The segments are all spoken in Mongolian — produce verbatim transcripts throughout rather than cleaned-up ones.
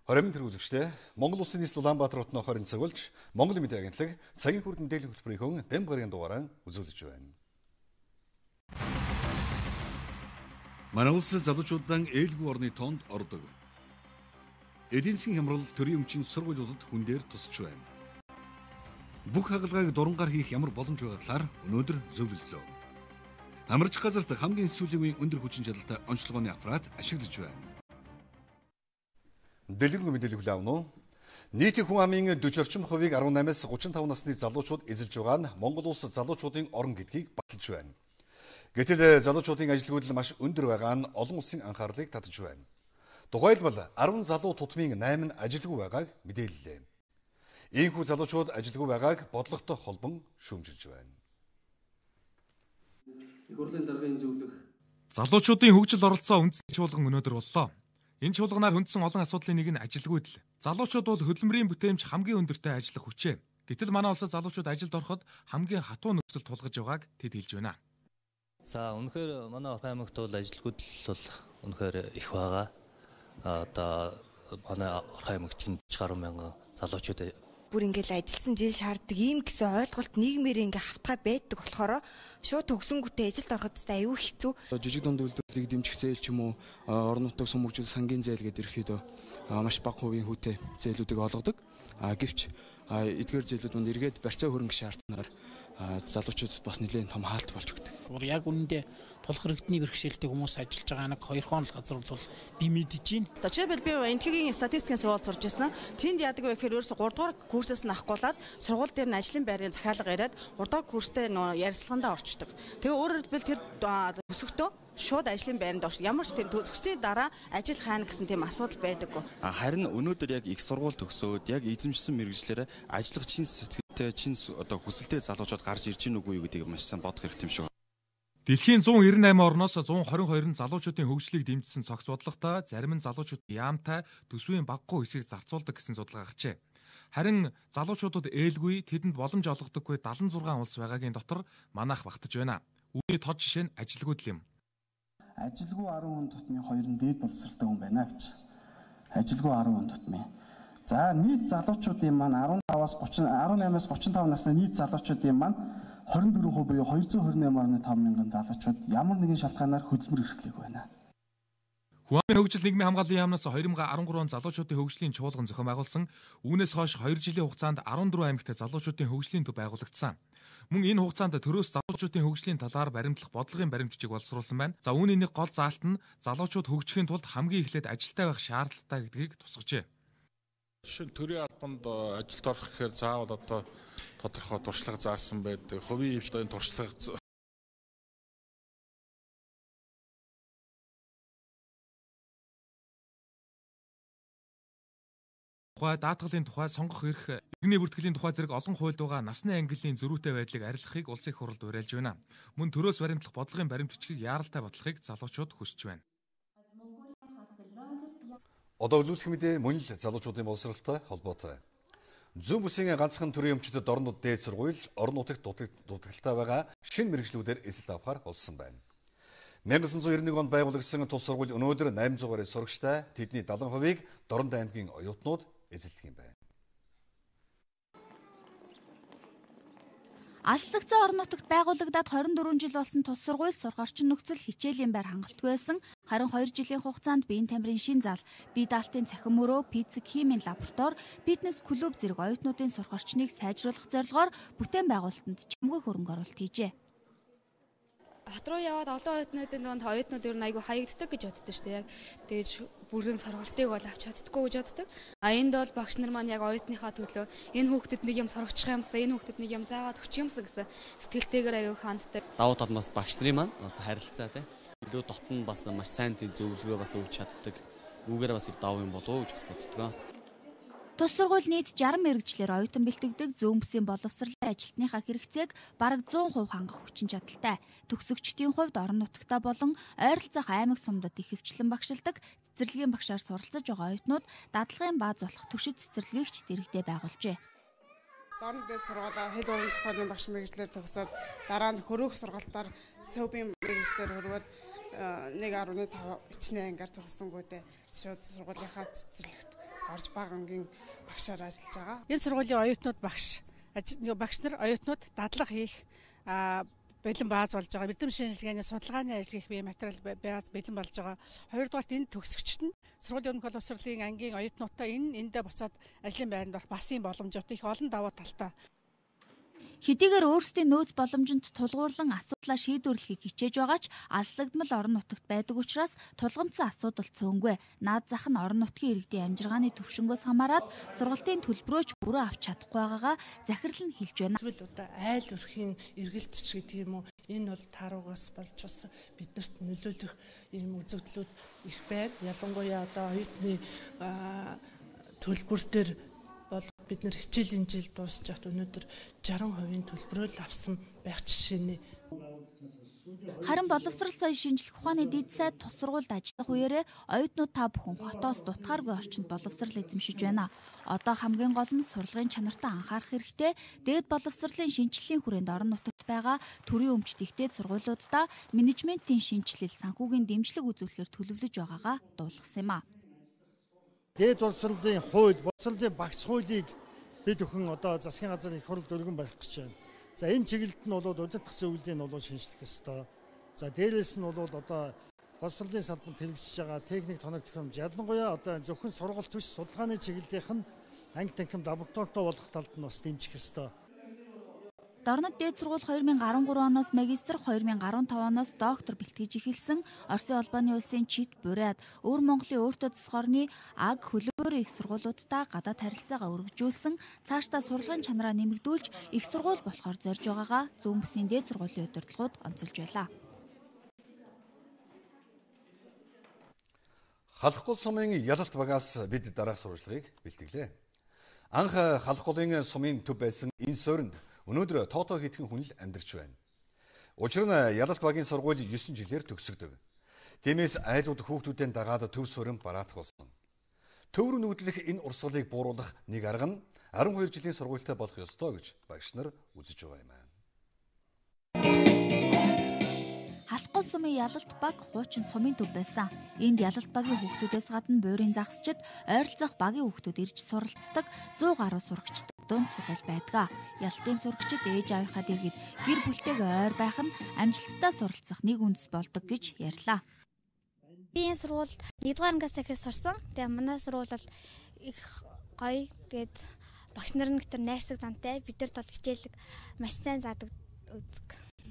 Хоримн тэр үзэгчтэй Монгол Улсын нийслэл Улаанбаатар хотын хорин цогөлж Монгол Мэдээ агентлаг цагийн хүрд мэдээллийн хөтөлбөрийн бям гарагийн дугаараа үзүүлж байна. Манай улс залуучуудаа ээлгүй орны тоонд ордог. Эдийн засгийн хямрал төрийн өмчийн сургуулиудад хүн дээр тусч байна. Бүх хагалгааг дурангаар хийх ямар боломж байгаа талаар өнөөдөр зөвлөлдлөө. Амарч газарт хамгийн сүүлийн үеийн өндөр хүчин чадалтай онцлогооны аппарат ашиглаж байна. Дэлгэрэнгүй мэдээлэл хүлээн авах нь нийтийн хүн амын дөрвөн орчим хувийг арван наймаас гурван таван насны залуучууд эзэлж байгаа нь Монгол улс залуучуудын орон гэдгийг баталж байна. Гэтэл залуучуудын ажилгүйдэл маш өндөр байгаа нь олон улсын анхаарлыг татаж байна. Тухайлбал арван залуу тутмын найман ажилгүй байгааг мэдээллээ. Ийхүү залуучууд ажилгүй байгааг бодлоготой холбон шүүмжилж байна. Их хурлын даргын зөвлөх залуучуудын хөгжил оролцоо үндэсний чуулган өнөөдөр боллоо. Энэ чуулганаар хөндсөн олон асуудлын нэг нь ажилгүйдэл. Залуучууд бол хөдөлмөрийн бүтээмж хамгийн өндөртэй ажиллах хүчээ. Гэтэл манай улсад залуучууд ажилд ороход хамгийн хатуу нөхцөл тулгаж байгааг тэд хэлж байна. За үнэхээр манай Орхон аймагт бол ажилгүйдэл бол үнэхээр их байгаа. Одоо манай Орхон аймагт чинь гаруй мянган залуучууд бүр ингээл ажилласан жил шаарддаг ийм гэсэн ойлголт нийгмээр ингээ хавтгай байдаг болохоор шууд төгсөнгүүтээ ажилд ороход аюу хэцүү. Жижиг дунд үйлдвэрлэлийг дэмжих зээл ч юм уу орон нутаг сумгжил сангийн зээл гэдэг ерөөхдөө маш бага хувийн хүүтэй зээлүүдийг олгодог. А гэвч эдгээр зээлүүд манд эргээд барьцаа хөрөнгө шаардсанаар залуучуудад бас нэлээд том хаалт болж өгдөг. Яг үнэндээ тулах хэрэгтний бэрхшээлтэй хүмүүс ажиллаж байгаа нэг хоёр хоол газар бол би мэдэж байна. Жишээлбэл би энтхийн статистикийн сургууль сурж байсан. Тэнд яадаг вэ гэхээр ерөөсө гурав дугаар курсээс нь авахгүйлаад сургууль дээр нь ажлын байрын захиалга яриад гурав дугаар курстэй ярилцлагандаа орчдөг. Тэгээ өөрөөр хэлбэл тэр өсөктөө шууд ажлын байранд орч. Ямар ч тийм төгсөний дараа ажил хаана гэсэн тийм асуудал байдаггүй. Харин өнөөдөр яг их сургууль төгсөөд яг эзэмшсэн мэргэжлээрээ ажиллах чин сэтгэлтэй чин одоо хүсэлтэй залуучууд гарч ирж гин үгүй юу гэдгийг маш сайн бодох хэрэгтэй юм шиг. Дэлхийн зуун нэрэн найман орноос зуун хорин хоёр нь залуучуудын хөгжлийг дэмжсэн цогц бодлоготой зарим нь залуучууд яамтай төсвийн багагүй хэсгийг зарцуулдаг гэсэн судалгаа гарчээ. Харин залуучуудад ээлгүй тэдэнд боломж олгодоггүй дагалан зургаан улс байгаагийн дотор манайх багтаж байна. Үүний тод жишээ нь ажилгүйдэл юм. Ажилгүй арван хүн тутмын хоёр нь дээд боловсралтай хүн байна гэж. Ажилгүй арван хүн тутмын. За нийт залуучуудын маань арван таваас гурван арван наймаас гурван таван насны нийт залуучуудын маань хорин дөрвөн хувь буюу хоёрзуун хорин найман орны таван мянган залуучууд ямар нэгэн шалтгаанаар хөдөлмөр эрхлэх байна. Хүн амын хөгжил нийгмийн хамгааллын яамнаас хоёр мың арван гурван залуучуудын хөгжлийн чуулган зохион байгуулсан. Үүнээс хойш хоёр жилийн хугацаанд арван дөрвөн аймагт залуучуудын хөгжлийн төв байгуулагдсан. Мөн энэ хугацаанд төрөөс залуучуудын хөгжлийн талаар баримтлах бодлогын баримтчиг боловсруулсан байна. За үүний нэг гол заалт нь залуучууд хөгжихийн тулд хамгийн эхлээд ажилтай байх шаардлагатай гэдгийг тусгажээ. Жишээ нь төрийн албанд ажилд орох гэхээр заавал одоо тодорхой туршлага заасан байдаг. Хувийн хвшлийн туршлага тухай, даатгалын тухай, сонгох эрх, иргэний бүртгэлийн тухай зэрэг олон хуульд байгаа насны ангиллын зөрүүтэй байдлыг арилгахыг улсын их хурлд уриалж байна. Мөн төрөөс баримтлах бодлогын баримтчгийг яаралтай бодлохыг залуучууд хүсэж байна. Одоо үзүүлэх мэдээ мөн л залуучуудын боловсролтой холбоотой. Зүүн бүсийн ганцхан төрийн өмчтөд орнууд дээд сургууль орон нутагт дутагдaltaй байгаа шинэ мэргэжлүүдээр эзэлт авахар болсон байна. 천구၉нэг онд байгуулагдсан тус сургууль өнөөдөр восемь сая гаруй сурагчтай тэдний седьмидесяти хувийг Дорнод аймгийн оюутнууд эзэлдэг юм байна. Алслагдсан орон нутагт байгуулагдаад хорин дөрвөн жил болсон тус сургууль сурах орчин нөхцөл хичээлийн байр хангалтгүй байсан. Харин хоёр жилийн хугацаанд биеийн тамирын шин зал, бие даалтын цахим мөрөө, физик химийн лаборатори, фитнес клуб зэрэг оюутнуудын сурах орчныг сайжруулах зорилгоор бүтээн байгуулалтанд чимгүй хөрөнгө оруулалт хийжээ. Хот руу яваад олон оюутнуудын донд оюутнууд ер нь айгүй хаягддаг гэж боддог шүү дээ. Яг тэгэж бүрэн сургалтыг бол авч чаддаггүй гэж боддог. А энд бол багш нар маань яг оюутныхаа төлөө энэ хүүхдэд нэг юм сургачих юмсан, энэ хүүхдэд нэг юм заагаад өгчих юмсан гэсэн сэтгэлтэйгээр аюу ханддаг. Давуу тал нь бас багш нарын маань харилцаа тий. Илүү дотн бас маш сайн тий зөвлөгөө бас өгч чаддаг. Үүгээр бас давуу юм болов уу гэж боддог. Тус сургууль нийт жарган мэргэжлэр оюутан бэлтгэдэг зүүн бүсийн боловсролын ажилтныхаа хэрэгцээг бараг зуун хувь хангах хүчин чадалтай. Төгсөгчдийн хувьд орон нутагтаа болон ойролцоох аймаг сумдад их хвчлэн багшилдаг цэцэрлэгийн багшаар суралцаж байгаа оюутнууд дадлагын бааз болох туршид цэцэрлэгч дэргэдээ байгуулжээ. Дорнод дэд сургуулаа хэл уран зохиолын багш мэргэжлэр төгсөөд дараа нь хөрөөх сургалтаар сөвбийн мэргэжлэр хөрвөөд нэг гаруй таван ичнэ ангиар төгссөнгүүтээ шууд сургуулийнхаа цэцэрлэгт орж бага ангийн багшаар ажиллаж байгаа. Энэ сургуулийн оюутнууд багш багш нар оюутнууд дадлага хийх бэлэн бааз болж байгаа. Эрдэм шинжилгээний судалгааны ажил хийх бие материал бааз бэлэн болж байгаа. Хоёрдугаарт энэ төгсөгчд нь сургуулийн өмнөх боловсролын ангийн оюутнуудтай энэ эндээ буцаад ажлын байранд орох бас юм боломжтой их олон давуу талтай. Хэдийгээр өөрсдийн нөөц боломжинд тулгуурлан асуудлаа шийдвэрлэхийг хичээж байгаа ч алслагдмал орон нутагт байдаг учраас тулгамдсан асуудал цөөнгүй. Наад зах нь орон нутгийн иргэдийн амжиргааны төвшнгөөс хамаарат сургалтын төлбөрөөч бүрэн авч чадахгүй байгаагаа захирал нь хэлж байна. Эсвэл одоо айл өрхийн эргэлтч гэдэг юм уу? Энэ бол тааруугаас болж бас биднэрт нөлөөлөх юм үзэгдлүүд их байна. Ялангуяа одоо оюутны төлбөр дээр бол бид нэр хичээлийн жил дуусч хат өнөөдөр шаран хувийн төлбөрөөл авсан байх жишээний. Харин боловсрол соёлын шинжилгээ ухааны дэд сайд тус сургуульд ажиллах үеэрээ оюутнууд та бүхэн хотоос дутгааргүй орчинд боловсрол эзэмшиж байна. Одоо хамгийн гол нь сурлагын чанартаа анхаарах хэрэгтэй. Дээд боловсролын шинжилгээний хүрээнд орон нутагт байгаа төрийн өмчт ихтэй сургуулиудаа менежментийн шинжилэл, санхүүгийн дэмжлэг үзүүлэхээр төлөвлөж байгаагаа дуулгасан юм а. Дээд боловсролын хууль, боловсролын багц хуулийг бид өхөн одоо засгийн газар их хурлд өргөн барих гэж байна. За энэ чиглэлд нь бол удирдах зөвлөлийг нь бол шинжлэх ёстой. За дээрээс нь бол одоо боловсролын салбарт хэрэгжиж байгаа техник тоног төхөөрөмж ялангуяа одоо зөвхөн сургалт биш судалгааны чиглэлийнх нь анги танхим лабораторитой болох талд нь бас дэмжих ёстой. Дорнод дээд сургууль хоёр мың гарсан гурав оноос магистр, хоёр мың гарсан тав оноос доктор бэлтгэж эхэлсэн Оросын холбооны улсын ЧИТ бурайд өвөр Монголын өөртөө засгорны аг хөлөөр их сургуулиудтай гадаад харилцаагаа өргөжүүлсэн, цаашдаа сурлагын чанараа нэмэгдүүлж их сургууль болохоор зорж байгаагаа Зүүн бүсийн дээд сургуулийн удирдлагууд онцолж байлаа. Халах гол сумын ялалт багаас бид дараах сурвалжлагыг бэлтгэлээ. Анх халах голын сумын төв байсан энэ суурьнд өнөөдөр тоотоо хийдхэн хүн л амьдарч байна. Учир нь ялалт багийн сургууль есөн жилээр төгсөгдөг. Тиймээс айлууд хүүхдүүдийн дагаад төв суурин бараадах болсон. Төв рүү нүүдлэх энэ урсгалыг бууруулах нэг арга нь арван хоёр жилийн сургуультай болох ёстой гэж багш нар үзэж байгаа юм аа. Халах гол сумын ялалт баг хуучин сумын төв байсан. Энд ялалт багийн хүүхдүүдээс гадна буурийн загсчид, ойролцоох багийн хүүхдүүд ирж суралцдаг зуун гаруй сурагчид дунд сургууль байдаг. Ялалтын сурагчид ээж аавынхаа дэргэд гэр бүлтэйгээ ойр байх нь амжилттай суралцах нэг үндэс болдог гэж ярьлаа. Би энэ сургуульд нэгдүгээр ангиас ихээс сурсан. Тэгээ манай сургууль бол их гоё. Тэгээд багш нар нэг төр найрсаг зантай. Бидэрт бол хичээлэг маш сайн заадаг үзэг.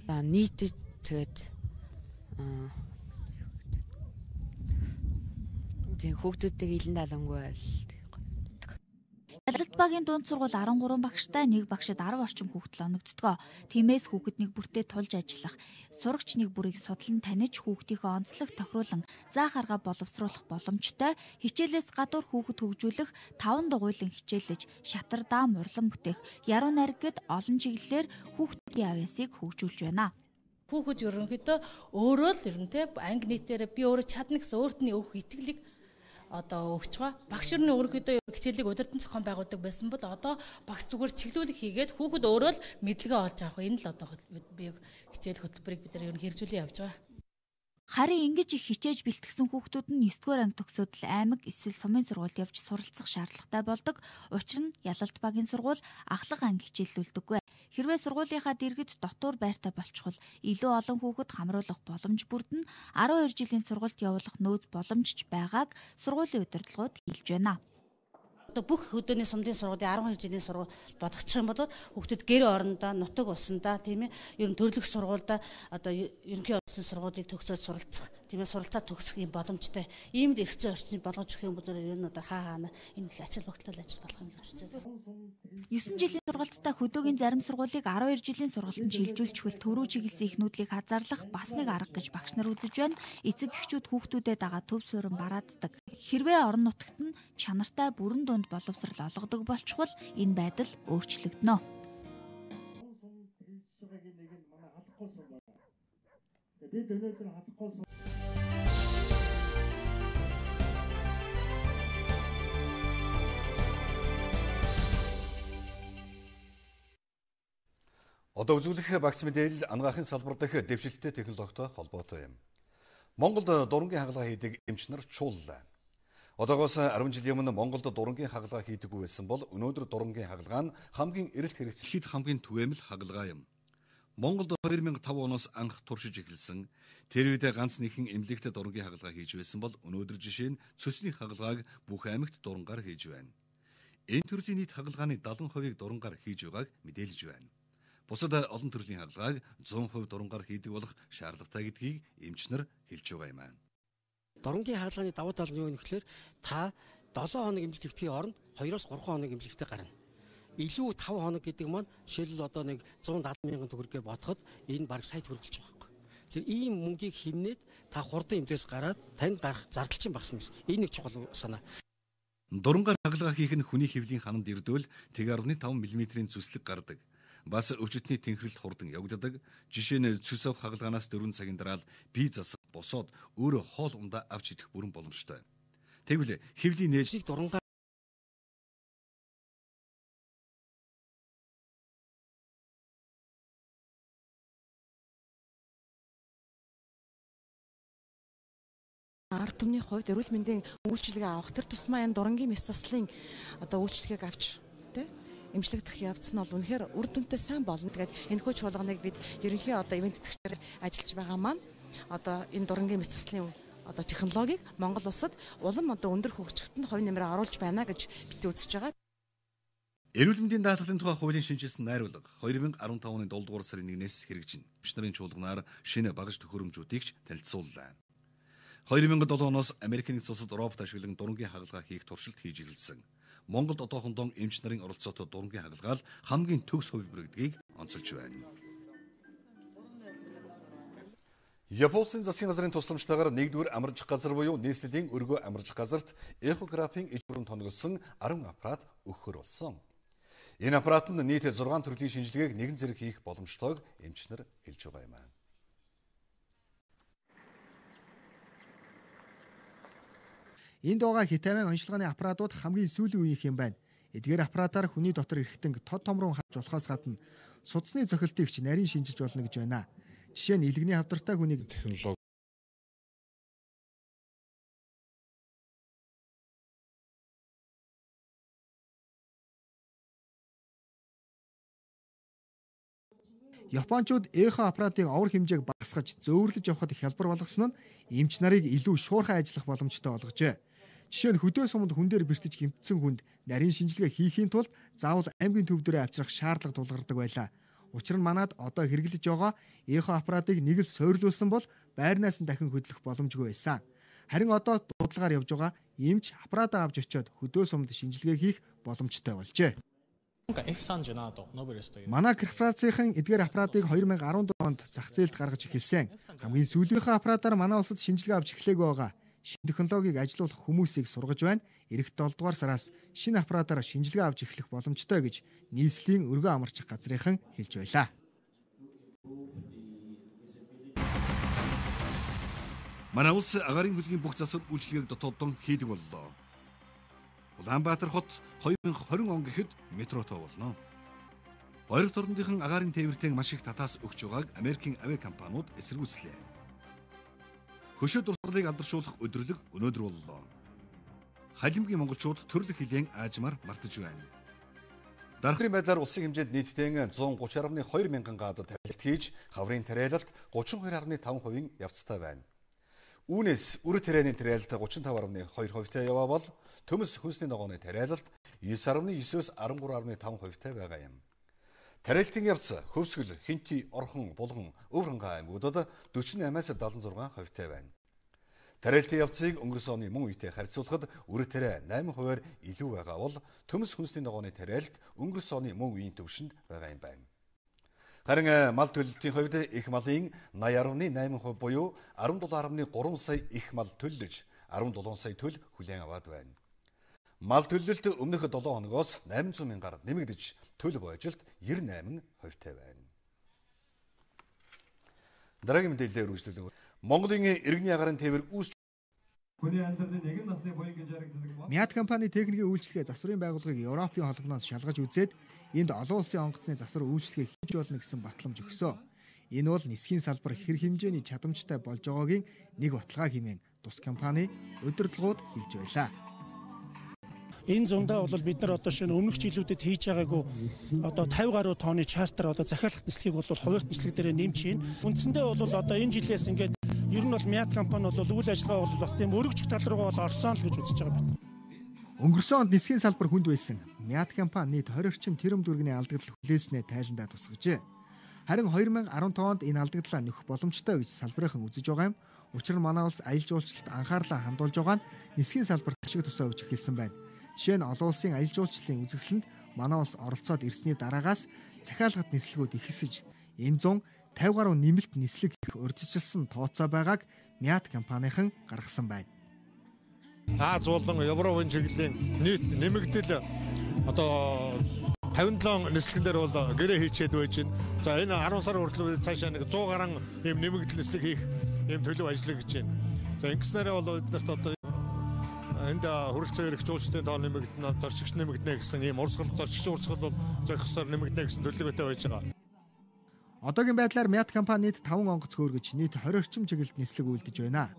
Нийтэд тэгээд тэг хүүхдүүдтэйг илэн далангүй байл. Ялалт багийн дунд сургууль арван гурван багштай, нэг багшид арав орчим хүүхдэл оногддог. Тиймээс хүүхэд нэг бүртээ тулж ажиллах, сурагч нэг бүрийг судлан таних, хүүхдийнхээ онцлог тохируулан заах арга боловсруулах боломжтой, хичээлээс гадуур хүүхэд хөгжүүлэх, таван дугуйлан хичээлж, шатар даам урлан бүтээх, яруу найраг гэд олон чиглэлээр хүүхдүүдийн авьяасыг хөгжүүлж байна. Хүүхэд ерөнхийдөө өөрөө л ерөнтэй анги нийтээр би өөрөө чадна гэсэн өөртний өөх итгэлийг одоо өгч байгаа. Багш өрний өөрөөдөө хичээлийг удирдан зохион байгуулдаг байсан бол одоо багш зүгээр чиглүүлэг хийгээд хүүхэд өөрөө л мэдлэгээ олж авах. Энэ л одоо би хичээл хөтөлбөрийг бид нар ер нь хэрэгжүүлэн явж байгаа. Харин ингэж их хичээж бэлтгэсэн хүүхдүүд нь нэгдүгээр анги төгсөөд л аймаг эсвэл сумын сургуульд явж суралцах шаардлагатай болдог. Учир нь ялалт багийн сургууль ахлах анги хичээллүүлдэггүй. Хэрвээ сургуулийнхаа дэргэд дотуур байртай болчихвол илүү олон хүүхэд хамруулах боломж бүрдэн арван хоёр жилийн сургалт явуулах нөөц боломжч байгааг сургуулийн удирдлагууд хэлж байна. Одоо бүх хөдөөний сумдын сургуулийн арван хоёр жилийн сургууль бодогдчих юм бол хүүхдүүд гэр орондоо нутаг улсандаа тийм ээ ер нь төрлөх сургуультай одоо ерөнхий улсын сургуулийг төгсөөд суралцах тийм ээ суралцаа төгсөх юм боломжтой иймд эрхцээ орчныг болгож өгөх юм бол ер нь одоо хаа хаана энэ ачаал багтаал ажил болох юм гэж үзээд байна. есөн жилийн сургалттай хөдөөгийн зарим сургуулийг арван хоёр жилийн сургалтанд шилжүүлчихвэл төрөө чиглэсэн ихнүүдлийг хазаарлах бас нэг арга гэж багш нар үзэж байна. Эцэг эхчүүд хүүхдүүдэд дагаад төв суурин барааддаг. Хэрвээ орон нутагт нь чанартай бүрэн дунд боловсрал олгодог болчихвол энэ байдал өөрчлөгдөнө. Бид өнөөдөр хатахгүй Одоо үзүүлэх багц мэдээлэл анагаахын салбар дэх дэвшилттэй технологитой холбоотой юм. Монголд дурангийн хагалгаа хийдэг эмч нар чууллаа. Одоогоос арван жилийн өмнө Монголд дурангийн хагалгаа хийдэггүй байсан бол өнөөдөр дурангийн хагалгаа нь хамгийн эрэлт хэрэгцээхэд хамгийн түгээмэл хагалгаа юм. Монголд хоёр мянга таван оноос анх туршиж эхэлсэн. Тэр үед ганц нэгэн эмнэлэгт дурангийн хагалгаа хийж байсан бол өнөөдөр жишээ нь цөсний хагалгааг бүх аймагт дурангаар хийж байна. Энэ төрлийн нийт хагалгааны даатан хувийг дурангаар хийж байгааг мэдээлж байна. Бусад олон төрлийн хагалгааг зуун хувь дурангаар хийдэг болох шаардлагатай гэдгийг эмчнэр хэлж байгаа юм аа. Дурангийн хагалгааны давуу тал нь юу вэ гэхээр та долоон хоног эмнэлэгт хэвтгэхийн оронд хоёроос гурван хоног эмнэлэгтээ гарна. Илүү таван хоног гэдэг маань жишээлбэл одоо нэг зуун даатан мянган төгрөгээр бодоход энэ бараг сая төгрөг болж байгаа байхгүй. Тэгэхээр ийм мөнгийг хэмнээд та хурдан эмнэлэгээс гараад танд гарах зардал чинь багасна гэсэн. Энэ нэг чухал санаа. Дурангаар хагалгаа хийх нь хүний хэвлийн хананд ирдвэл нэг дасалж таван миллиметрийн зүслэг гардаг. Бас өвчтний тэнхрэлт хурдан явагддаг. Жишээ нь цус ав хагалгаанаас дөрвөн цагийн дараа бие засах, босоод өөрөө хоол ундаа авч идэх бүрэн боломжтой. Тэгвэл хэвлийн нээжийг дурангаар ард түмний хувьд эрүүл мэндийн үйлчилгээ авах тэр тусмаа энэ дурангийн мэс заслын одоо үйлчилгээг авч тий эмчлэгдэх явц нь бол үнэхээр үр дүнтэй сайн болно. Тэгээд энэ хүү чуулганыг бид ерөнхий одоо ивент тэтгэгчээр ажиллаж байгаа маань одоо энэ дурангийн мэс заслын одоо технологиг Монгол улсад улам одоо өндөр хөгжөлтөнд хувь нэмрээ оруулж байна гэж бид үзэж байгаа. Эрүүл мэндийн даатгалын тухай хуулийн шинжилсэн найруулга хоёр мянга арван таван оны дундуур сарын нэгнээс хэрэгжинэ. Эмч нарын чуулганаар шинэ багаж төхөөрөмжүүдийг ч танилцууллаа. хоёр мянга долоо оноос Америкийн нэгдсэн улсад робот ашиглан дурангийн хагалгаа хийх туршилт хийж эхэлсэн. Монголд одоохондоо эмч нарын оролцоотой дурангийн хагалгаа хамгийн төгс хувилбар гэдгийг онцолж байна. Японы засгийн газрын тусламжтайгаар нэгдүгээр амарч газар буюу нийслэлийн өргөө амарч газарт эхографийн иж бүрэн тоногдсон арван аппарат өгөхөр болсон. Энэ аппарат нь нийт зургаан төрлийн шинжилгээг нэгэн зэрэг хийх боломжтойг эмчнэр хэлж байгаа юм аа. Энд байгаа хитамын онцлогооны аппаратууд хамгийн сүүлийн үеийнх юм байна. Эдгээр аппаратаар хүний дотор эрхтэн тод томрон харж болохоос гадна судасны цохилтыг ч нарийн шинжилж болно гэж байна. Жишээ нь илгэний хавдартай хүнийг технологи Япончууд эхо аппаратыг овор хэмжээг багасгаж зөөвөрлөж явахад хялбар болгосон нь эмч нарыг илүү шуурхай ажиллах боломжтой болгожээ. Жишээ нь хөдөө суманд хүн дээр бэртэж гэмтсэн хүнд нарийн шинжилгээ хийхийн тулд заавал аймгийн төв дээрээ авчрах шаардлага тулгардаг байлаа. Учир нь манад одоо хэрэглэж байгаа эхо аппаратыг нэг л сойрлуулсан бол байрнаас нь дахин хөдлөх боломжгүй байсан. Харин одоо дуудлагаар явж байгаа эмч аппаратаа авч очиод хөдөө сумд шинжилгээ хийх боломжтой болжээ. Манай корпорацийн эдгээр аппаратыг хоёр мянга арван дөрөв онд зах зээлд гаргаж эхэлсэн. Хамгийн сүүлийнхээ аппаратаар манай улсад шинжилгээ авч эхлэегүй байгаа. Шинэ технологиг ажилуулах хүмүүсийг сургаж байна. Ирэх долоо дугаар сараас шинэ аппаратаар шинжилгээ авч эхлэх боломжтой гэж нийслэлийн өргөө амарч газрынхан хэлж байлаа. Манай улс агаарын хөлгийн бүх засвар үйлчилгээг дотооддон хийдэг боллоо. Улаанбаатар хот хоёр мянга двадцать он гэхэд метротой болно. Ойролт орныхон агаарын тээвэртэй маш их татаас өгч байгааг Америкийн авиа компаниуд эсэргүүцлээ. Хөшөө дурсгалыг алдаршуулах өдрөлөг өнөөдөр боллоо. Халимгийн монголчууд төрлөх хилэн аажмаар мартаж байна. Дарахын байдлаар улсын хэмжээнд нийтдээ зуун гурван гаруй хоёр мянган гад тарилт хийж, хаврын тариалалт гучин хоёр гаруй таван хувийн явцтай байна. Үүнээс үр тарианы тариалалт гучин тав гаруй хоёр хувьтай яваа бол төмс хүнсний ногооны тариалалт девять гаруй девятөөс десять гаруй таван хувьтай байгаа юм. Тариалтын явц Хөвсгөл, Хинти, Орхон, Булган, Өврангай аймагуудад дөрвөн восемнаас седемдесет шесть хувьтай байна. Тариалтын явцыг өнгөрсөн оны мөн үетэй харьцуулахад үр тариа восемь хувиар илүү байгаа бол төмс хүнсний ногооны тариалт өнгөрсөн оны мөн үеийн төвшөнд байгаа юм байна. Харин мал төлөлтийн хувьд их малын восемь гаруй восемь хувь буюу десvet гаруй три сая их мал төллөж десvet сая төл хүлээн аваад байна. Мал төлөлт өмнөх долоо хоногоос восемьсот мянгаар нэмэгдэж төл бойжилт девяносто восемь хувьтай байна. Дараагийн мэдээлэлээр үргэлжлүүлэн Монголын иргэний агаарын тээвэр үүсч хүний амьдралын нэгэн насны буян гэж яригддаг. Мят компани техникийн үйлчлэгээ засварын байгууллагыг Европын холбооноос шалгаж үзээд энд олон улсын онгоцны засвар үйлчлэгээ хийж болно гэсэн батламж өгсөн. Энэ бол нисхийн салбар хэр хэмжээний чадамжтай болж байгаагийн нэг баталгаа хэмээн тус компани удирдлагууд хэлж байлаа. Энэ зундаа бол бид нар одоо шинэ өмнөх жилүүдэд хийж байгаагүй одоо тавь гаруй тонны чартер одоо захиалах нислэгийг бол хуваарь нислэг дээр нэмж чинь. Үндсэндээ бол одоо энэ жилээс ингээд ер нь бол Мят компани бол үйл ажиллагаа бол бас тийм өргөжих тал руугаа бол орсон л гэж үзэж байгаа байна. Өнгөрсөн онд нисхийн салбар хүнд байсан Мят компани нийт двадцать орчим тэрэм дүргийн алдагдал хүлээснээ тайландаа тусгажээ. Харин two thousand fifteen онд энэ алдагдлаа нөхөх боломжтой гэж салбарынхан үзэж байгаа юм. Учир нь манай улс аялал жуулчлалд анхаарлаа хандуулж байгаа нь нисхийн салбарт ашиг тусаа өгч эхэлсэн байна. Жишээ нь олон улсын аялал жуулчлалын үзэсгэлэнд манай улс оролцоод ирсний дараагаас захиалгад нислэгүүд ихсэж энэ зун fifty гаруй нэмэлт нислэг их урьдчилсан тооцоо байгааг Мят компанийн гаргасан байна. Аз болон Европын чиглэлийн нийт нэмэгдэл одоо fifty-seven нислэгэн дээр бол гэрээ хийчээд байж байна. За энэ ten сар хүртэл цаашаа нэг one hundred гаруй ийм нэмэгдэл нислэг хийх ийм төлөв ажиллаж гэж байна. За ингэснээрээ бол биднэрт одоо энд хөрөлцөө эрх жуулчдын тоо нэмэгдэнэ, зорчигч нэмэгдэнэ гэсэн ийм урсгал зорчигч урсгал бол зохисоор нэмэгдэнэ гэсэн төлөвлөгөөтэй байж байгаа. Одоогийн байдлаар Мят компанид five онгоц хөөргөж нийт twenty орчим чиглэлд нислэг үйлдэж байна.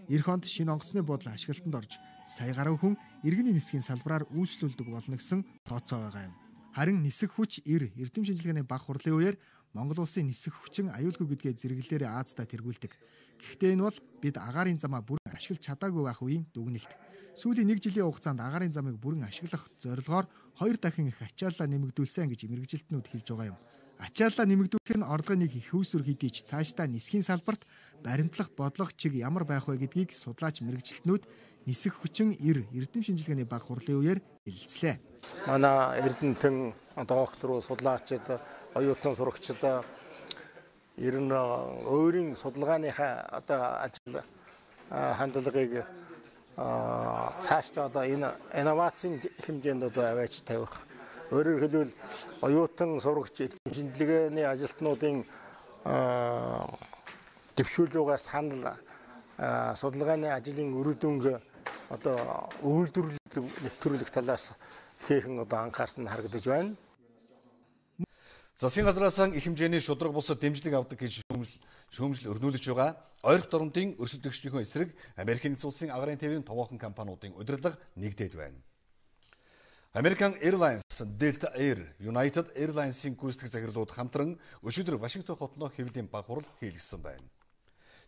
Эх онд шинэ онгоцны буудлын ашиглалтанд орж сая гаруй хүн иргэний нисхийн салбараар үйлчлүүлдэг болно гэсэн тооцоо байгаа юм. Харин нисэх хүч эр эрдэм шинжилгээний баг хурлын үеэр Монгол улсын нисэх хүчин аюулгүй гэдгээ зэрэглэлээрээ Аазда тэргүүлдэг. Гэхдээ энэ бол бид агаарын замаа бүрэн ашиглаж чадаагүй байх үеийн дүгнэлт. Сүүлийн нэг жилийн хугацаанд агаарын замыг бүрэн ашиглах зорилгоор хоёр дахин их ачааллаа нэмэгдүүлсэн гэж мэргэжилтнүүд хэлж байгаа юм. Ачааллаа нэмэгдүүлэх нь орлогыг их хөөсөр хэдий ч цаашдаа нисхийн салбарт баримтлах бодлого чиг ямар байх вэ гэдгийг судлаач мэргэжилтнүүд нисэх хүчин эр эрдэм шинжилгээний баг хурлын үеэр хэлэлцлээ. Манай эрдэмтэн доктор судлаачид оюутан сурагчид ер нь өөрийн судалгааныхаа одоо ажил хандлагыг цаашдаа одоо энэ инновацийн хэмжээнд одоо аваач тавих. Өөрөөр хэлбэл оюутан сурагч шинжилгээний ажилтнуудын дэвшүүлгээс санал судалгааны ажлын үр дүнг одоо үйлдвэрлэх нэвтрүүлэх талаас хийхэн одоо анхаарсан харагдаж байна. Засгийн газраас их хэмжээний шудраг бусад дэмжлэг авдаг гэж шүүмжил өрнүүлж байгаа ойрхон дорнодын өрсөлдөгчдийн эсрэг Америкийн нэгдсэн улсын агарын тээврийн товоохон компаниудын удирдлага нэгдээд байна. American Airlines, Delta Air, United Airlines-ийн гүйцэтгэх захирлууд хамтран өчигдөр Вашингтон хотноо хэвлэлийн баг хурал хийлгэсэн байна.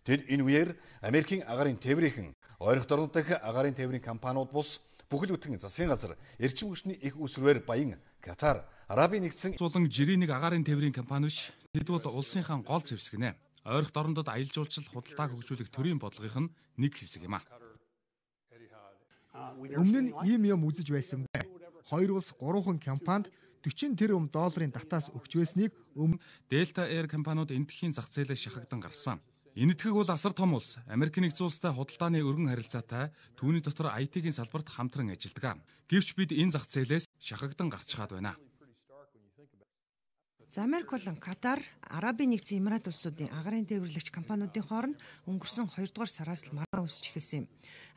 Тэд энэ үеэр Америкийн агарын тээврийнхэн ойрхон дорнод дахь агарын тээврийн компаниуд бус бүхэл бүтэн засгийн газар эрчим хүчний их усрээр баян Катар, Арабын нэгдсэн улсын жирийн нэг агарын тээврийн компани биш. Тэд бол улсынхаа гол зэвсгэнэ. Ойрхон дорнодод аялал жуулчлал худалдааг хөгжүүлэх төрийн бодлогын нэг хэсэг юм а. Өмнө нь ийм юм үзэж байсан бай. Хоёр улс гурван компанид forty тэрбум долларын татаас өгч байсныг өмнө Delta Air компаниуд энэтхэгийн зах зээлээс шахагдан гарсан. Энэтхэг бол асар том улс. Америкийн нэгдсэн улстай худалдааны өргөн харилцаатай түүний дотор ай ти-гийн салбарт хамтран ажилладаг. Гэвч бид энэ зах зээлээс шахагдан гарчхаад байна. За Америк болон Катар, Арабын нэгдсэн Эмират улсуудын агарын тээвэрлэгч компаниудын хооронд өнгөрсөн two дугаар сараас л маргаан үсч эхэлсэн юм.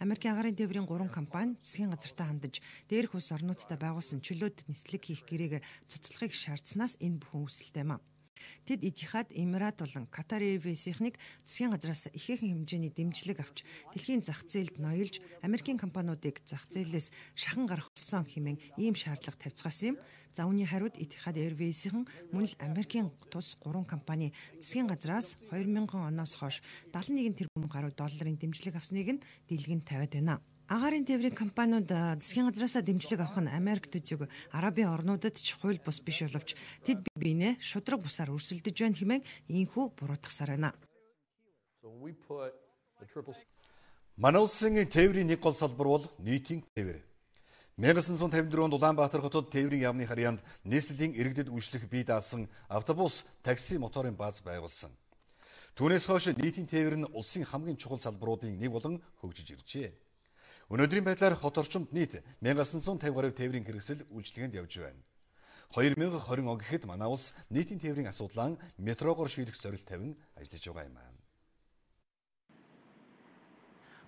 Америкийн агарын тээврийн гурван компани засгийн газартаа хандаж дээрх улс орнуудтай байгуулсан чөлөөт нислэг хийх гэрээгээр цуцлахыг шаардсанаас энэ бүхэн үүсэлтэй юм. Тэд Этихад, Эмират болон Катар Airways-ийг засгийн газраас ихээхэн хэмжээний дэмжлэг авч дэлхийн зах зээлд ноёлж Америкийн компаниудыг зах зээлээс шахан гарах болсон хэмээн ийм шаардлага тавьцгаасан юм. За үүний хариуд Этихад Airways-ийн мөн л Америкийн тус гурван компани засгийн газраас two thousand оноос хойш seventy-one тэрбум гаруй долларын дэмжлэг авсныг нь дэлгэн тавиад байна. Агарын тээврийн компаниуд засгийн газраас дэмжлэг авах нь Америк төзөг Арабын орнуудад ч хууль бус биш боловч тэд бие биенээ шудраг бусаар өрсөлдөж байна хэмээн ийхүү буруутгасаар байна. Манай улсын тээврийн нэг гол салбар бол нийтийн тээвэр. nineteen fifty-four онд Улаанбаатар хотод тээврийн яамны харьяанд нийслэлийн иргэдэд үйлчлэх бие даасан автобус, такси, моторын бааз байгуулсан. Түүнээс хойш нийтийн тээвэр нь улсын хамгийн чухал салбаруудын нэг болон хөгжиж иржээ. Өнөөдрийн байдлаар хот орчимд нийт nineteen fifty гаруй тээврийн хэрэгсэл үйлчлэгэнд явж байна. twenty twenty он гэхэд манай улс нийтийн тээврийн асуудлаа метрогоор шийдэх зорилт тавин ажиллаж байгаа юм аа.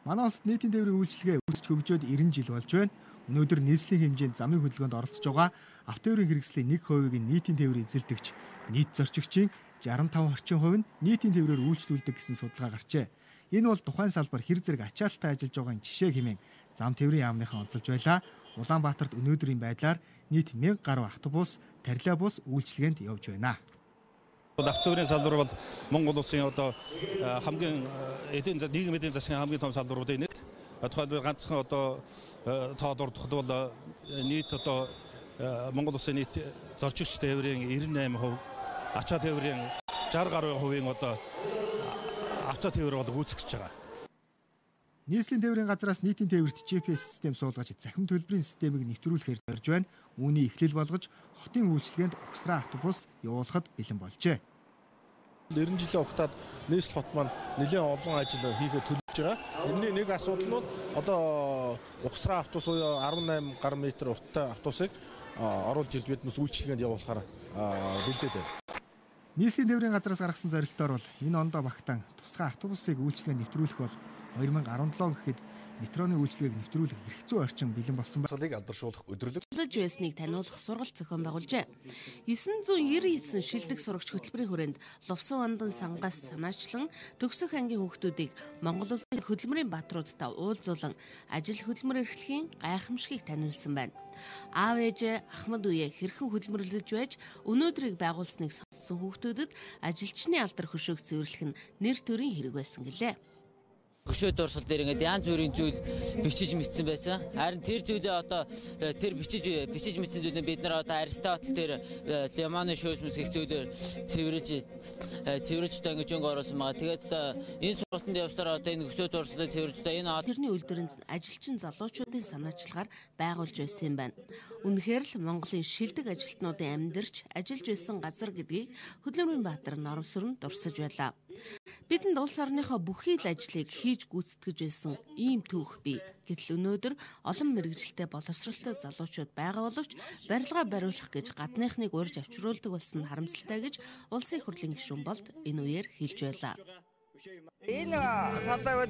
Манай улсад нийтийн тээврийн үйлчилгээ үүсч хөгжөөд ninety жил болж байна. Өнөөдөр нийслэлийн хэмжээнд замын хөдөлгөөнд оролцож байгаа автотээврийн хэрэгслийн one percent-ийг нийтийн тээврээр эзэлдэгч нийт зорчигчийн sixty-five орчим хувь нь нийтийн тээврээр үйлчлүүлдэг гэсэн судалгаа гарчээ. Энэ бол тухайн салбар хэр зэрэг ачаалттай ажиллаж байгааг жишээ хэмээн зам тээврийн яамныхан онцолж байлаа. Улаанбаатарт өнөөдрийн байдлаар нийт мянга гаруй автобус, тарилаа бус үйлчилгээнд явж байна. Автобусны салбар бол Монгол улсын одоо хамгийн эдийн нийгмийн эдийн засгийн хамгийн том салбаруудын нэг. Тухайлбал ганцхан одоо тоод ордоход бол нийт одоо Монгол улсын нийт зорчигч тээврийн девяносто восемь хувь, ачаа тээврийн шестьдесят гаруй хувийн одоо авто тээвэр бол гүйцэтгэж байгаа. Нийслэлийн тээврийн газраас нийтийн тээвэрт джи пи эс систем суулгаж захим төлбөрийн системийг нэвтрүүлэхээр зорж байна. Үүний эхлэл болгож хотын үйлчилгээнд угсраа автобус явуулахад бэлэн болжээ. нэрэн жилийн хугацаанд нийслэл хот маань нэлээд олон ажил хийхэд төлөвлөж байгаа. Энэний нэг асуудал нь одоо угсраа автобус буюу десять гаруй метр урттай автобусыг оруулж ирж биднээс үйлчилгээнд явуулахаар бэлдээд байна. Нийслэлийн тээврийн газраас гаргасан зорилтоор бол энэ ондоо багтаан тусгай автобусыг үйлчилгээнд нэвтрүүлэх бол two thousand seventeen гэхэд метроны үйлчилгээг нэвтрүүлэх хэрэгцүү орчин бэлэн болсон байгааг алдаршуулах өдрөлөг байсныг таниулах сургалт зохион байгуулжээ. нine ninety-nine шилдэг сурагч хөтөлбөрийн хүрээнд Лувсан Вандан сангаас санаачлан төгсөх ангийн хүүхдүүдийг Монгол Улсын хөдөлмөрийн бааtruудтай уулзуулан ажил хөдөлмөр эрхлэхийн гайхамшигыг таниулсан байна. Аав ээж Ахмад үе хэрхэн хөдөлмөрлөж байж өнөөдрийг байгуулсныг сонссон хүүхдүүдэд ажилчны алдар хөшөөг цэвэрлэх нь нэр төрийн хэрэг байсан гэлээ. Хөшөө дурсал дээр ингээд янз бүрийн зүйл бичиж мэдсэн байсан. Харин тэр зүйлээ одоо тэр бичиж бичиж мэдсэн зүйлээ бид нар одоо Аристотель дээр Леманы шөөсмөс гэх зүйлээр цэвэрлж цэвэрлж та ингэж өнгө оруулсан байгаа. Тэгээд энэ сургалтанд явсаар одоо энэ хөшөө дурслыг цэвэрлж та энэ тэрний үйлдвэрийн ажилчин залуучуудын санаачлагаар байгуулж байсан юм байна. Үнэхээр л Монголын шилдэг ажилтнуудын амьдарч ажиллаж байсан газар гэдгийг Хөдөлмөрийн Баатар Норомсорн дурсаж байлаа. Бидэнд улс орныхоо бүхий л ажлыг хийж гүйцэтгэж байсан ийм түүх бий. Гэтэл өнөөдөр олон мэргэжилтэй боловсралтай залуучууд байгаа боловч барилгаа бариулах гэж гадныхныг урьж авчруулдаг болсон харамсалтай гэж улсын их хурлын гишүүн болд энэ үеэр хэлж байлаа. Энэ талбай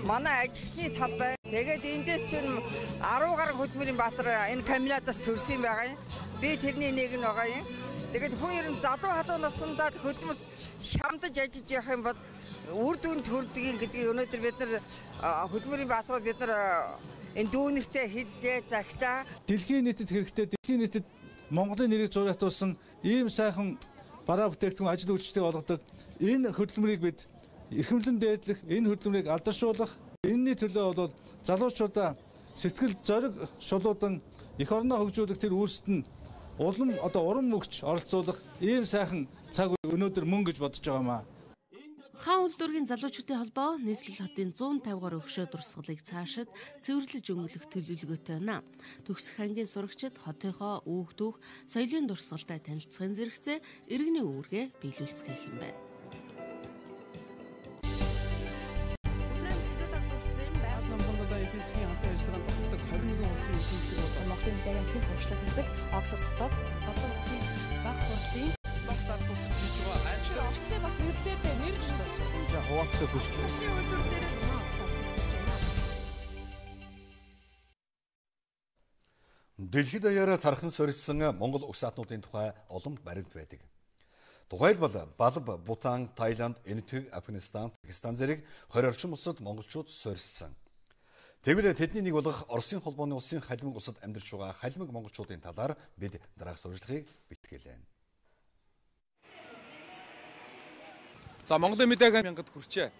манай ажилчны талбай. Тэгээд эндээс чинь ten гаруй Хөдөлмөрийн Баатар энэ комбинатаас төрсөн байгаа юм. Би тэрний нэг нь байгаа юм. Тэгээд хүн ер нь залуу халуун насндаа хөдөлмөрт шамдаж ажиллаж явах юм бол үр дүнд хүрдгийг гэдгийг өнөөдөр бид нар Хөдөлмөрийн Баатрууд бид нар энэ дүүнэртэй хэллээ загтаа. Дэлхийн нийтэд хэрэгтэй дэлхийн нийтэд Монголын нэрийг зураатуулсан ийм сайхан бараа бүтээгдэхүүн ажил үйлчлэлийг олгодог энэ хөдөлмөрийг бид эрхэмлэн дээдлэх, энэ хөдөлмөрийг алдаршуулах, энэний төлөө бол залуучуудаа сэтгэл зориг шулуудан эх орноо хөгжүүлэх тэр үйлсэд нь улам одоо уран мөгч оролцуулах ийм сайхан цаг үе өнөөдөр мөн гэж бодож байгаа маа. Хаан улдургийн залуучуудын холбоо нийслэл хотын one fifty гаруй хөшөө дурсгалыг цаашид цэвэрлэж өнгөлөх төлөвлөгөөтэй байна. Төгсөх ангийн сурагчид хотынхоо үүх түүх, соёлын дурсгалтай танилцахын зэрэгцээ иргэний үүргээ биелүүлцгээх юм байна. Эпискийн хамтын ажиллагаанд багтдаг twenty-one улсын эдийн засаг болон Монголын мэдээллийн сурчлах хэсэг Оксфорд хотоос долоо улсын баг хурлын Локсар тусах гэж байгаа. Ажил Орсын бас нэрлэлтэй нэрж тавьсан. Жаа хуваалцах хүсэж байна. Шинэ үйлдвэр дээр хаасаас үзэж байна. Дэлхийд даяараа тархан сорьсон Монгол уг саатнуудын тухай олон баримт байдаг. Тухайлбал Балб, Бутан, Таиланд, Энэтхэг, Афганистан, Пакистан зэрэг twenty орчим улсад монголчууд сорьсон. Тэгвэл тэдний нэг болох Оросын холбооны улсын халимаг улсад амьдарч байгаа халимаг монголчуудын талаар бид дараах сурвалжлагыг бэлтгэлээ. За Монголын мэдээг мянгад хүрчээ.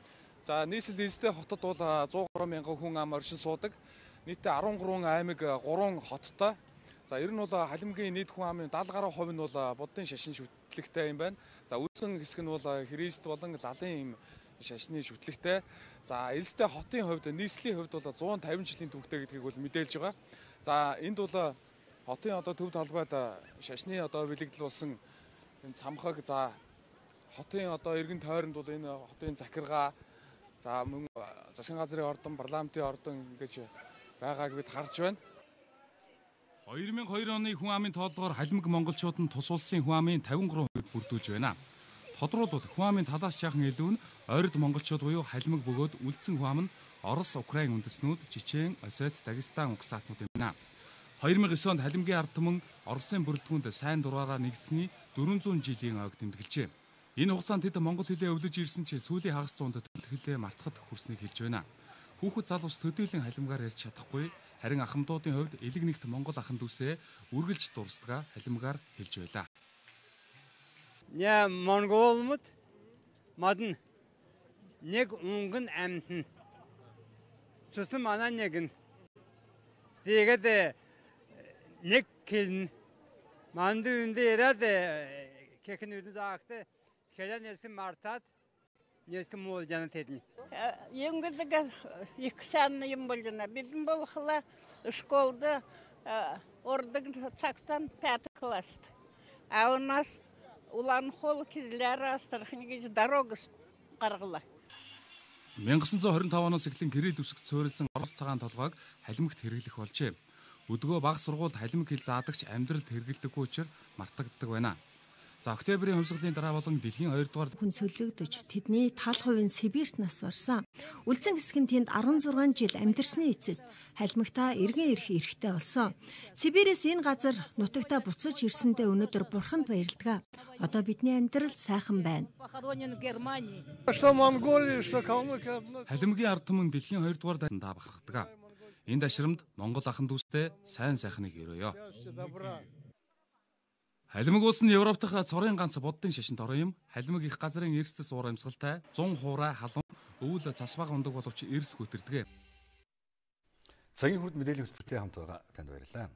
За нийслэл эзтэй хотод бол one hundred мянган хүн ам оршин суудаг. Нийтдээ thirteen аймаг, three хоттой. За ер нь бол халимгийн нийт хүн амын seventy гаруй хувь нь бол буддын шашин шүтлэгтэй юм байна. За үүсэн хэсэг нь бол Христ болон лалын юм шашны шүтлэгтэй. За элстэй хотын хувьд нийслэлийн хувьд бол one fifty жилийн түүхтэй гэдгийг бол мэдээлж байгаа. За энд бол хотын одоо төв талбайд шашны одоо бэлэгдэл болсон энэ цамхаг, за хотын одоо эргэн тойронд бол энэ хотын захиргаа, за мөн засгийн газрын ордон, парламентын ордон ингэж байгааг бид харж байна. two thousand two оны хүн амын тоолгоор халимаг монголчууд нь тус улсын хүн амын fifty-three хувийг бүрдүүлж байна. Тодруулбал хүн амын талаас жаахан илүү нь ойрд монголчууд буюу халимаг бөгөөд үлдсэн хүн ам нь Орос, Украин үндэстнүүд, Чечен, Осет, Дагестан угсаатнууд юм байна. two thousand nine онд халимгийн ард түмэн Оросын бүрэлдэхүүнд сайн дураараа нэгдсэний four hundred жилийн ойг тэмдэглэжээ. Энэ хугацаанд тэд монгол хэлээ өвлөж ирсэн ч сүүлийн хагас зуунд төрөл хэлээ мартахад хүрснийг хэлж байна. Хүүхэд залуус төдийлөн халимгаар ярьж чадахгүй, харин ахмадуудын хувьд элэг нэгт монгол ахын дүүсээ үргэлж дурсдгаа халимгаар хэлж байлаа. Я монголмод модн нэг өнгөн амтэн. Цэсэн манай нэгэн. Тэгээд нэг хэн манду үндэ яраад кехэн үдэн заахтай хэдэн нэсгэн мартаад нэсгэн муул жанат хэдэн. Өнгөлөг их сан юм болгоно. Бидэн болохла школда ордог цагтан пятый класс. А у нас Улан-Хол кизлэр астрахныг дорогос гаргалаа. 천구 тwenty-five оноос эхлэн гэрэл үсэгт суурилсан Орос цагаан толгойг халимагт хэрэглэх болжээ. Өдгөө бага сургуульд халимаг хэл заадагч амьдралд хэрэглэдэггүй учраас мартагддаг байна. За октябрийн хувьсгалын дараа болон дэлхийн хоёрдугаар хүн цөлөгдөж тэдний тал хувийн Сибирт нас барсан. Үлдсэн хэсэг нь тэнд sixteen жил амьдарсны эцэст халимагтаа эргэн ирэх эрхтэй болсон. Сибирээс энэ газар нутагтаа буцаж ирсэндээ өнөөдөр бурханд баярлдаг. Одоо бидний амьдрал сайхан байна. Халимагийн ард түмэн дэлхийн хоёрдугаар дайнд бахархдаг. Энэ дашрамд монгол ахын дүүстэй сайн сайхныг өрөөё. Халимаг улс нь Европ дахь цорын ганц буддын шашинд орон юм. Халимаг их газрын эрсдэс уур амьсгалтай one hundred хуурай халуун өвөл цасбага ундаг боловч эрс хөтөрдөг. Цагийн хүрд мэдээллийн хөтөлбөртэй хамт байгаа танд баярлалаа.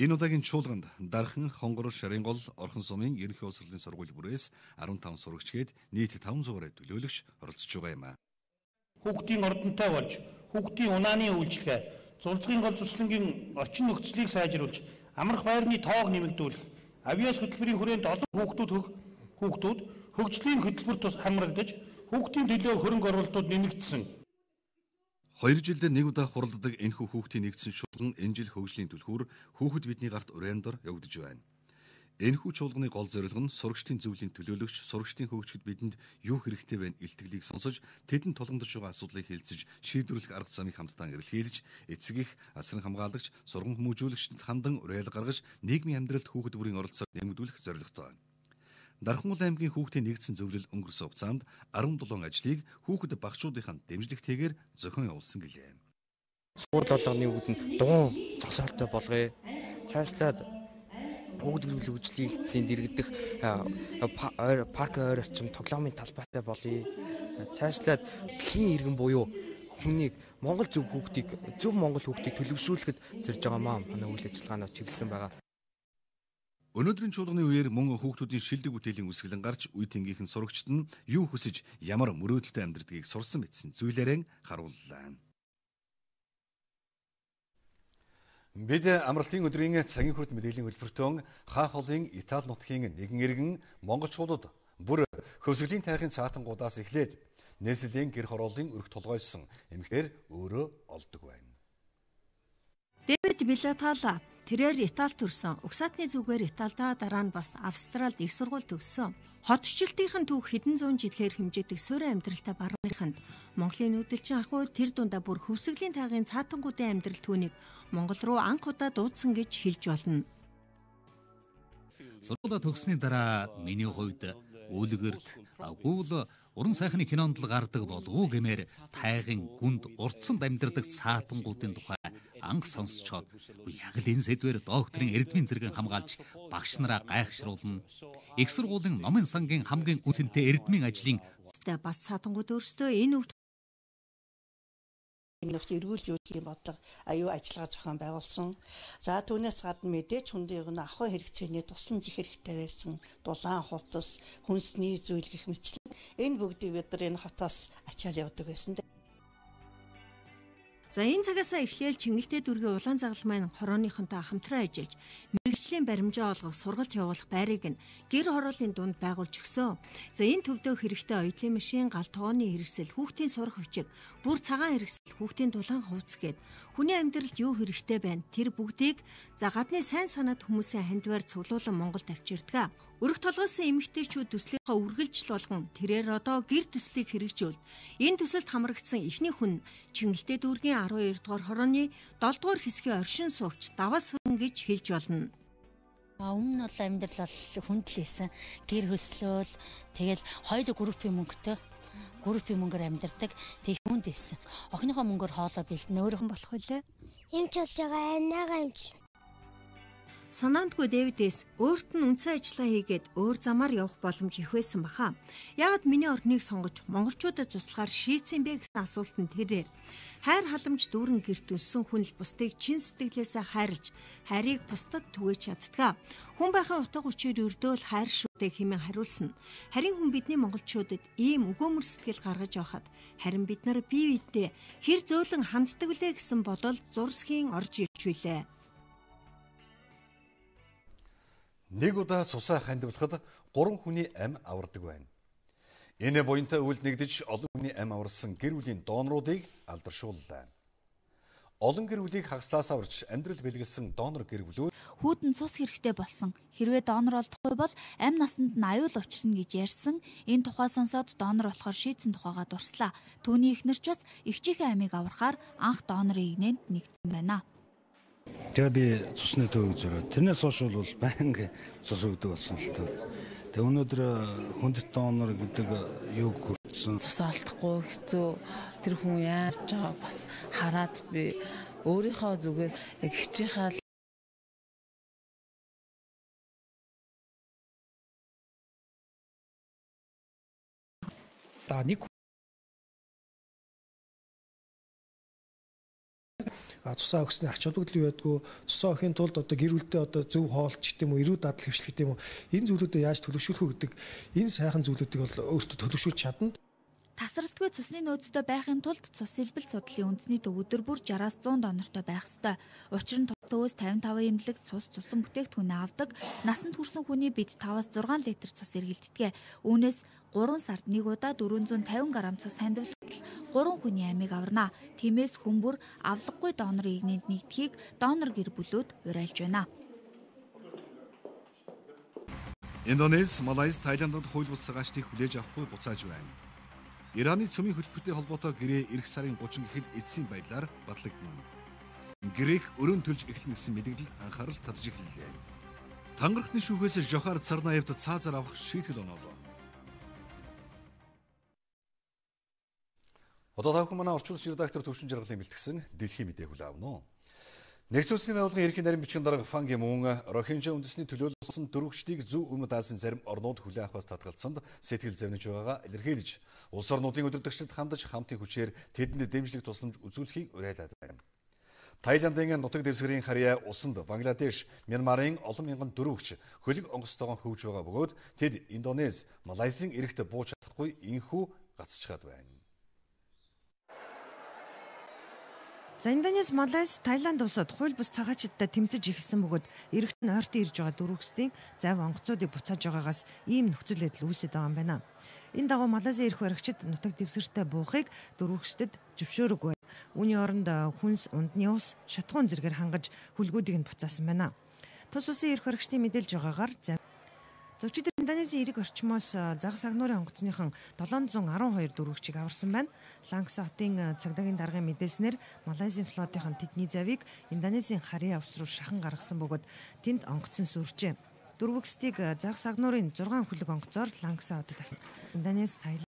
Энэ удаагийн чуулганд Дархан, Хонгор, Шарингол, Орхон сумын ерөнхий улс хурлын сургууль бүрээс fifteen сурагчгээд нийт five hundred төлөөлөгч оролцож байгаа юм а. Хүүхдийн ордонтой болж, хүүхдийн унааны үйлчлэгээ, зурцгийн гол зүслэнгийн орчин нөхцөлийг сайжруулж, амрах байрны тоог нэмэгдүүлэх, авиас хөтөлбөрийн хүрээнд олон хүүхдүүд хүүхдүүд хөгжлийн хөтөлбөрт тус хамрагдаж, хүүхдийн төлөө хөрөнгө оруулалтууд нэмэгдсэн. Хоёр жилдээ нэг удаа хуралддаг энэхүү хүүхдийн нэгдсэн чуулган энэ жил хөгжлийн түлхүүр хүүхэд бидний гарт урайндор явагдаж байна. Энэхүү чуулганы гол зорилго нь сурагчдын зөвлөлийн төлөөлөгч, сурагчдын хөгжихөд бидэнд юу хэрэгтэй байна илтгэлийг сонсож, тэдэнд тулгамдж байгаа асуудлыг хэлэлцэж, шийдвэрлэх арга замыг хамтдаа эрэлхийлж, эцэг их, асран хамгаалагч, сургам хүмүүжүүлэгчдэд хандан уриалга гаргаж, нийгмийн амьдралд хүүхэд бүрийн оролцоог нэмэгдүүлэх зорилготой байна. Дархан аймгийн хүүхдийн нэгдсэн зөвлөл өнгөрсөн хугацаанд seventeen ажлыг хүүхэд багшуудынхаа дэмжлэгтэйгээр зохион явуулсан гэлээ. Сургууль болгоны үүдэн дугуун зогсоолтой болгоё. Цаашлаад бүгд гэрүүл хөгжлийн хэлтсийн дэргэдэх парк ойр орчим тоглоомын талбайтай болъё. Цаашлаад дэлхийн иргэн буюу хүнийг Монгол зөв хүүхдийг зөв Монгол хүүхдийг төлөвшүүлэхэд зорж байгаа маа манай үйл ажиллагаанууд чиглэсэн байгаа. Өнөөдрийн чуулганы үеэр мөн хүүхдүүдийн шилдэг бүтээлийн үсгэлэн гарч үе тэнгийнхэн сурагчид нь юу хүсэж ямар мөрөөдөлтэй амьдрдгийг сурсан мэдсэн зүйлээрэн харууллаа. Бид амралтын өдрийн цагийн хүрд мэдээллийн хөтөлбөртөө хаа холын Итали нутгийн нэгэн иргэн монголчуудад бүр хөвсгөлийн тайхын цаатангуудаас эхлээд нийслэлийн гэр хорооллын өрх толгойсон эмэгтэй өөрөө олдог байна. Дэвид Билатала тэрээр Италид төрсөн. Угсаатны зүгээр Италидаа дараа нь бас Австралид их сургууль төгссөн. Хотчлтын түүх хэдэн зуун жилээр хэмжээдэг суурин амьдралтай барууныханд Монголын нүүдэлчин ахуй тэр дундаа бүр хөвсгөлийн тайгын цаатангуудын амьдрал түүнийг Монгол руу анх удаа дуудсан гэж хэлж болно. Сургуулаа төгссөний дараа миний хувьд үлгэрт агуул уран сайхны кинонд л гардаг болов уу гэмээр тайгын гүнд урдсанд амьдардаг цаатангуудын тухай анх сонсчоод яг л энэ сэдвээр докторийн эрдмийн зэрэг хамгаалж багш нараа гайхшруулна. Их сургуулийн номын сангийн хамгийн үнэтэй эрдмийн ажлын бас цаатангууд өөрсдөө энэ үр энэс эргүүлж үүсгэхийн бодлого аюу ажиллагаа зохион байгуулсан. За түүнээс гадна мэдээж хүндийг нь ахуй хэрэгцээний тусламж их хэрэгтэй байсан. Дулаан хувцас, хүнсний зүйл гэх мэтлэн энэ бүгдийг бид нар энэ хотоос ачаал явдаг байсан. За энэ цагаасаа эхлээл Чингэлтэй дүүргийн улаан загалмай маань хорооныхонтой хамтран ажиллаж мэрэгжлийн баримжаа олгох сургалт явуулах байрыг нь гэр хорооллын дунд байгуулж өгсөн. За энэ төвдөө хэрэгтэй оюутлын машин, гал тооны хэрэгсэл, хүүхдийн сурах хүчиг, бүр цагаан хэрэгсэл, хүүхдийн дулаан хувцас гээд хүний амьдралд юу хэрэгтэй байна тэр бүгдийг за гадны сайн санаад хүмүүсийн хандваар цуглуулан Монголд авчирдаг. Өрх толгойсон эмэгтэйчүүд төслийнхаа үргэлжил болгон тэрээр одоо гэр төслийг хэрэгжүүл. Энэ төсөлд хамрагдсан эхний хүн Чингэлтэй дүүргийн twelve дугаар хорооны seven дугаар хэсгийн оршин суугч Давас хүн гэж хэлж болно. Өмнө нь бол амьдрал бол хүндлээсэн. Гэр хөслөөл тэгэл хоёул группийн мөнгөтэй группийн мөнгөөр амьдардаг. Тэг хүнд байсан. Охиныхоо мөнгөөр хоолой бэлдэн өөрөөхөн болох үлээ. Эмч болж байгаа анаагаа эмч. Санаандгүй Дэвидээс өөрт нь үндсэн ажиллагаа хийгээд өөр замаар явах боломж их байсан баха. Яагаад миний орныг сонгож монголчуудад туслахаар шийдсэн бэ гэсэн асуултанд тэрээр хайр халамж дүүрэн гэрт өссөн хүн л бусдыг чин сэтгэлээсээ хайрлж, хайрыг бусдад түгээж чаддгаа. Хүн байхын утга учир өрдөөл хайр шүтэ хэмээн хариулсан. Харин хүн бидний монголчуудад ийм өгөөмөр сэтгэл гаргаж явахад харин бид нар бие биедээ хэр зөөлөн ханддаг вүлээ гэсэн бодол зурсхийн орж ирж билээ. Нэг удаа цусаа хандивлахад гурван хүний ам авардаг байна. Энэ буянтай үйл нэгдэж олон хүний ам аварсан гэр бүлийн доноруудыг алдаршууллаа. Олон гэр бүлийг хагаслаас аварч амьдрал бэлгэлсэн донор гэр бүлүүд хүүдэн цус хэрэгтэй болсон. Хэрвээ донор олдохгүй бол амь насанд нь аюул учрна гэж ярьсан. Энэ тухай сонсоод донор болохоор шийдсэн тухайгаа дурслаа. Түүний эхнэр ч бас эгчийнхээ амийг аврахаар анх донорын игнэнд нэгдсэн байна. Тэгээ би цусны төвөг зөрөө. Тэрнээс хойш бол байнга цус өгдөг болсон л тоо. Тэгээ өнөөдөр хүндэт донор гэдэг юг хүртсэн. Цус алдахгүй хэцүү. Тэр хүн яаж байгааг бас хараад би өөрийнхөө зүгээс яг хичээхаа та нэг цусаа өгсөний ач холбогдол юу байдгүй, цусаа өгөхийн тулд одоо гэр бүлдээ одоо зөв хоолч гэх юм уу, эрүү дадал хэвшлэх гэх юм уу, энэ зүйлүүдэд яаж төлөвшүүлэх үү гэдэг энэ сайхан зүйлүүдийг бол өөртөө төлөвшүүлж чадна. Тасралтгүй цусны нөөцтэй байхын тулд цус сэлбэл судлалын үндэсний төв өдөр бүр сараас зуун донортой байх ёстой. Учир нь төвөөс тавин таван эмнэлэг цус цусан бүтээгдэхүүнээ авдаг. Насанд хүрсэн хүний бид таваас зургаан литр цус эргэлддэг. Үүнээс гурван сард нэг удаа дөрвөн зуун тавин грамм цус хандивлахад гурван хүний амийг аварна. Тиймээс хүн бүр авлаггүй донорын игнэнд нэгдэхийг донор гэр бүлүүд уриалж байна. Индонез, Малайз, Тайландд хууль бус цагаачдыг хүлээж авахгүй буцааж байна. Ираны цөмийн хөтөлбөртэй холбоотой гэрээ эх сарын гучин гэхэд эцсийн байдлаар батлагдана. Гэрээх өрөөнд төлж эхлэн гэсэн мэдээлэл анхаарал татж эхэллээ. Тангарахны шүүхээс Жохар Царнаевд цаазаар авах шийтгэл оноолоо. Одоо та бүхэн манай орчуулсан редактор Төвшин Жаргалын бэлтгэсэн дэлхийн мэдээг хүлээн авна. Нэгдсэн улсын байгууллагын ерөнхий нарийн бичгийн дарга Пан Ги Мун Рохинжа үндэсний төлөөлсөн дөрвөгчдийг зөв өмнөд Азийн зарим орнууд хүлээн авахаас татгалцсанд сэтгэл зовниж байгаагаа илэрхийлж, улс орнуудын удирдагчдад хандаж хамтын хүчээр тэдэнд дэмжлэг тусламж үзүүлэхийг уриалаад байна. Тайландын нутаг дэвсгэрийн харьяа усанд Бангладеш, Мянмарын олон мянган дөрвөгч хөлөг онгоцтойгоо хөвж байгаа бөгөөд тэд Индонез, Малайзийн эрэхт бууж чадахгүй инхүү гацчихад байна. За Индонез, Малайз, Тайланд улсууд хууль бус цагаачдад тэмцэж эхэлсэн бөгөөд эрэгт нь ойртон ирж байгаа дөрвөгчдийн зав онгоцуудыг буцааж байгаагаас ийм нөхцөл байдал үүсэж байгаа юм байна. Энэ дагуу Малайзын эрх баригчид нутаг дэвсгэртэй буухыг дөрвөгчдөд зөвшөөрөггүй. Үүний оронд хүнс, ундны ус, шатхуун зэргээр хангаж хүлгүүдийг нь буцаасан байна. Тус улсын эрх баригчдын мэдээлж байгаагаар зөвчид Индонезийн эрэг орчмоос загас агнуурын онгоцныхан долоон зуун арван хоёр дөрвөгчийг аварсан байна. Лангса хотын цагдаагийн даргын мэдээснээр Малайзийн флотынхан тэдний завийг Индонезийн харьяа ус руу шахан гаргасан бөгөөд тэнд онгоцон сүржээ. Дөрвөгчдийг загас агнуурын зургаан хүлэг онгоцоор Лангса хотод Индонез, Тайланд.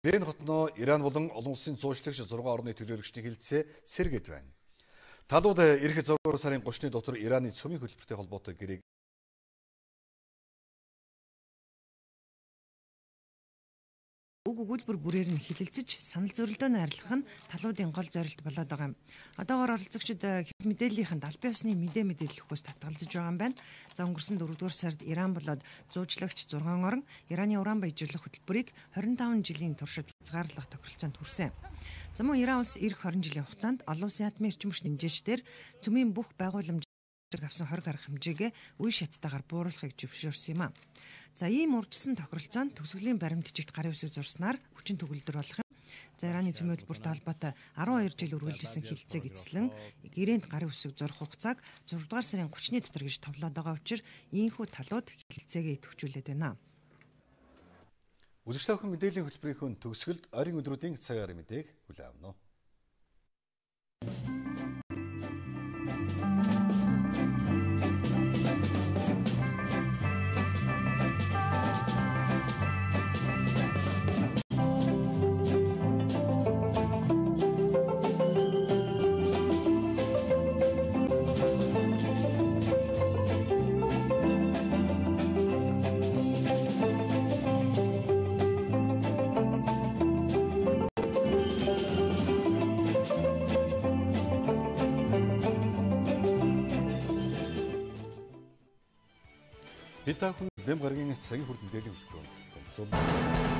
Иран хотноо Иран болон олон улсын зуучлагч зургаан орны төлөөлөгчдийн хилцээ сэргээд байна. Талууд эх зургаар сарын гуравны дотор Ираны цөмийн хөтөлбөртэй холбоотой гэрээг Уг өгүүлбэр бүрээр нь хилэлцэж санал зөрөлдөөнд арилгах нь талуудын гол зорилт болоод байгаа юм. Одоогоор оролцогчид хэв мэдээллийнхэн албан ёсны мэдээ мэдээлэл өгөхөөс татгалзаж байгаа юм байна. За өнгөрсөн дөрөвдүгээр сард Иран болоод зуучлагч зургаан орон Ираны уран баяжуулах хөтөлбөрийг хорин таван жилийн туршид хязгаарлах тохиролцоонд хүрсэн. За мөн Иран улс эх хорин жилийн хугацаанд олон улсын атомын эрчимч нэмжээчдэр цөмийн бүх байгууламж авсан хориг арга хэмжээгээ үе шаттайгаар бууруулахыг зөвшөөрсөн юм а. За ийм урьдчилсан тохиролцоонд төгсгөлийн баримтчигт гарын үсэг зурснаар хүчин төгөлдөр болох юм. За Ираны цөмийн хөтөлбөртэй холбоотой арван хоёр жил үргэлжилсэн хилцээг эцэслэн гэрээнд гарын үсэг зурх хугацааг зураг дугаар сарын гуравны дотор гэж товлоод байгаа учраас ийхүү талууд хилцээгээ идэвхжүүлээд байна. Үзэгч та бүхэн мэдээллийн хөтөлбөрийн төгсгөлд ойрын өдрүүдийн цаг аарын мэдээг хүлээн авна. Бид та хүн бэм гарагийн цагийн хүрдэн дээлийн хөтөлбөрөөр танилцуулна.